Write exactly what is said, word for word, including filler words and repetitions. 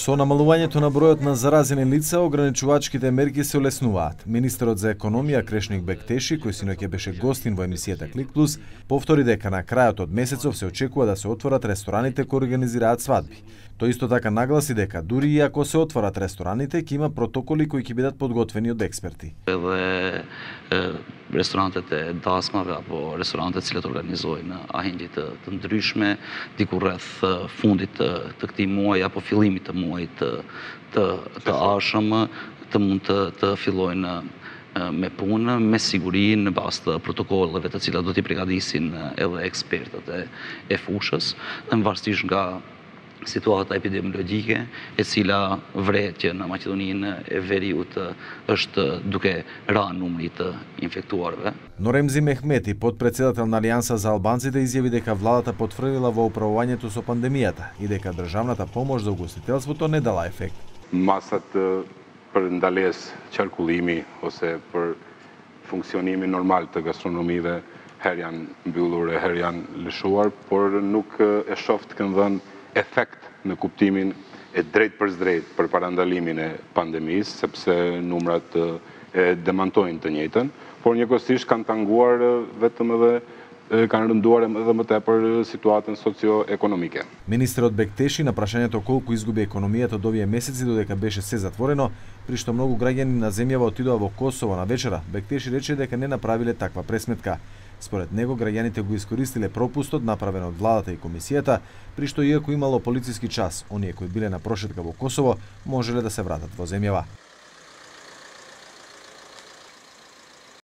Со намалувањето на бројот на заразени лица, ограничувачките мерки се олеснуваат. Министерот за економија Крешник Бектеши, кој синоќа беше гостин во емисијата Клик Плюс, повтори дека на крајот од месецов се очекува да се отворат рестораните кои организираат свадби. Тој исто така нагласи дека дури и ако се отворат рестораните, ќе има протоколи кои ќе бидат подготвени од експерти. Edhe restorantet e dasmave apo restorantet cilët organizojnë ahindje të, të ndryshme, diku rreth fundit të, të këtij muaji apo fillimit të muajit të, të, të ardhshëm të mund të, të fillojnë me punë, me siguri në bazë të protokolleve të cilat do t'i përgatisin edhe ekspertët e, e fushës, në varësisht nga situata epidemiologjike e cila vret që në Maqedoninë e Veriut është duke rënë numri të infektuarve. Норемзи Мехмети, подпредседател на Алијанса за албанците, изјави дека владата потврдила во управувањето со пандемијата и дека државната помош за угостителството не дала ефект. Masat për ndalesë qarkullimi ose për funksionimin normal të gastronomive herë janë mbyllur e herë janë lëshuar, por nuk e shoh të kanë dhënë efekt në kuptimin e drejt për drejt për parandalimin e pandemisë, sepse numrat e demantojnë të njëjtën, por njëkohësisht kanë tanguar vetëm edhe kanë rënduar edhe më tepër situatën socio-ekonomike. Министерот Бектеши на прашањето колку изгуби економијата од овие месеци додека беше се затворено, при што многу граѓани на земјава отидоа во Косово на вечера, Бектеши рече дека не направиле таква пресметка. Според него, граѓаните го искористиле пропустот направен од владата и комисијата, при што иако имало полициски час, оние кои биле на прошетка во Косово можеле да се вратат во земјава.